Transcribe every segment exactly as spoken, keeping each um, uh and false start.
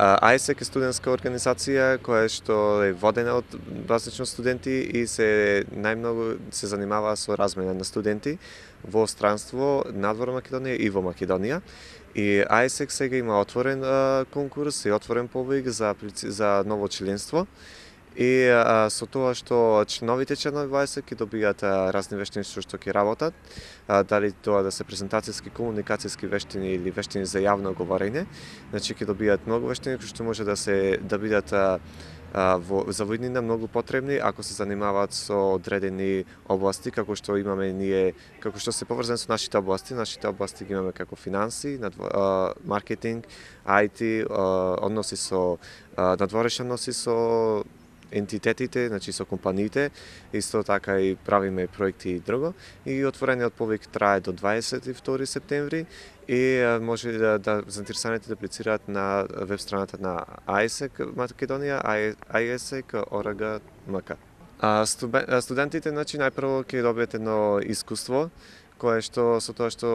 АЕСЕК е студентска организација која што е водена од базично студенти и се најмногу се занимава со размена на студенти во странство, надвор Македонија и во Македонија. И АЕСЕК сега има отворен а, конкурс и отворен побег за за ново членство. И а, со тоа што членовите членови во АЕСЕК ќе добијат а, разни вештини што што ќе работат, а, дали тоа да се презентацијски, комуникацијски вештини или вештини за јавно говорење, значи ќе добијат многу вештини кои што може да се да бидат а, а, во за воиднина многу потребни ако се занимаваат со одредени области како што имаме ние, како што се поврзани со нашите области, нашите области ги имаме како финанси, надво, маркетинг, ај ти, односи со надворешни односи со ентитетите, значи со компаниите, исто така и правиме проекти и друго. И отворениот побег трае до дваесет и втори септември и може да, да заинтересираните да аплицираат на веб страната на АЕСЕК Македонија, аесек точка орг точка мк. А, студентите, значи, најпрво ќе добиете едно искуство, кое што со тоа што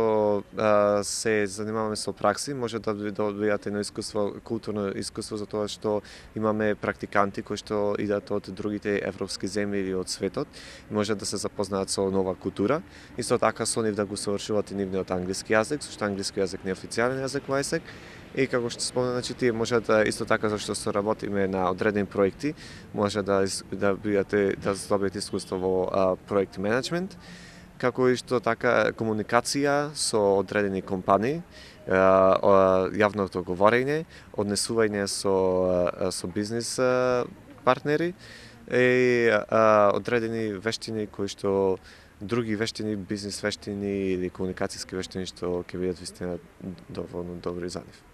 а, се занимаваме со пракси, може да добијате едно искуство, културно искуство за тоа што имаме практиканти кои што идат од другите европски земји или од светот, може да се запознаат со нова култура. Исто така со нив да го совршуваат и нивниот англиски јазик, зашто англиски јазик не е официјален јазик во АЕСЕК. И како што спомнав, значи тие можат да, исто така зашто се работиме на одредени проекти, може да да бидете да добиете искуство во а, проект менеджмент, како и што така комуникација со одредени компании, јавното говорење, однесување со со бизнис партнери и одредени вештини кои што други вештини, бизнис вештини или комуникацијски вештини што ќе бидат вистина доволно добри за нив.